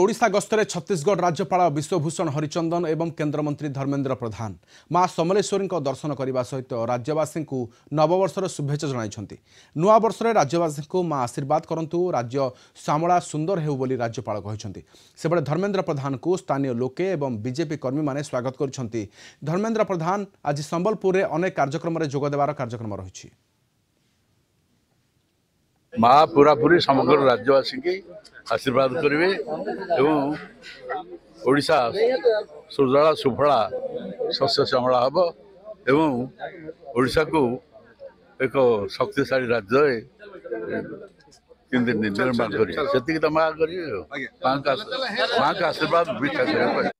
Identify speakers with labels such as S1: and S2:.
S1: ଓଡ଼ିଶା ଗସ୍ତରେ ଛତିଶଗଡ଼ ରାଜ୍ୟପାଳ ବିଶ୍ୱଭୂଷଣ ହରିଚନ୍ଦନ ଏବଂ କେନ୍ଦ୍ରମନ୍ତ୍ରୀ ଧର୍ମେନ୍ଦ୍ର ପ୍ରଧାନ ମା ସମଲେଶ୍ୱରୀଙ୍କ ଦର୍ଶନ କରିବା ସହିତ ରାଜ୍ୟବାସୀଙ୍କୁ ନବବର୍ଷର ଶୁଭେଚ୍ଛା ଜଣାଇଛନ୍ତି। ନୂଆବର୍ଷରେ ରାଜ୍ୟବାସୀଙ୍କୁ ମା ଆଶୀର୍ବାଦ କରନ୍ତୁ, ରାଜ୍ୟ ଶ୍ୟାମଳା ସୁନ୍ଦର ହେଉ ବୋଲି ରାଜ୍ୟପାଳ କହିଛନ୍ତି। ସେପଟେ ଧର୍ମେନ୍ଦ୍ର ପ୍ରଧାନଙ୍କୁ ସ୍ଥାନୀୟ ଲୋକେ ଏବଂ ବିଜେପି କର୍ମୀମାନେ ସ୍ୱାଗତ କରିଛନ୍ତି। ଧର୍ମେନ୍ଦ୍ର ପ୍ରଧାନ ଆଜି ସମ୍ବଲପୁରରେ ଅନେକ କାର୍ଯ୍ୟକ୍ରମରେ ଯୋଗ ଦେବାର କାର୍ଯ୍ୟକ୍ରମ ରହିଛି।
S2: ମା ପୁରାପୁରି ସମଗ୍ର ରାଜ୍ୟବାସୀଙ୍କୁ ଆଶୀର୍ବାଦ କରିବେ ଏବଂ ଓଡ଼ିଶା ସୁଜଳା ସୁଫଳା ଶସ୍ୟ ଶ୍ୟାମଳା ହେବ ଏବଂ ଓଡ଼ିଶାକୁ ଏକ ଶକ୍ତିଶାଳୀ ରାଜ୍ୟରେ କେମିତି ନିର୍ମାଣ କରିବେ, ସେତିକି ତ ମା କରିବେ। ମାଙ୍କ ଆଶୀର୍ବାଦ ଭିକ୍ଷା କରିବା ପାଇଁ।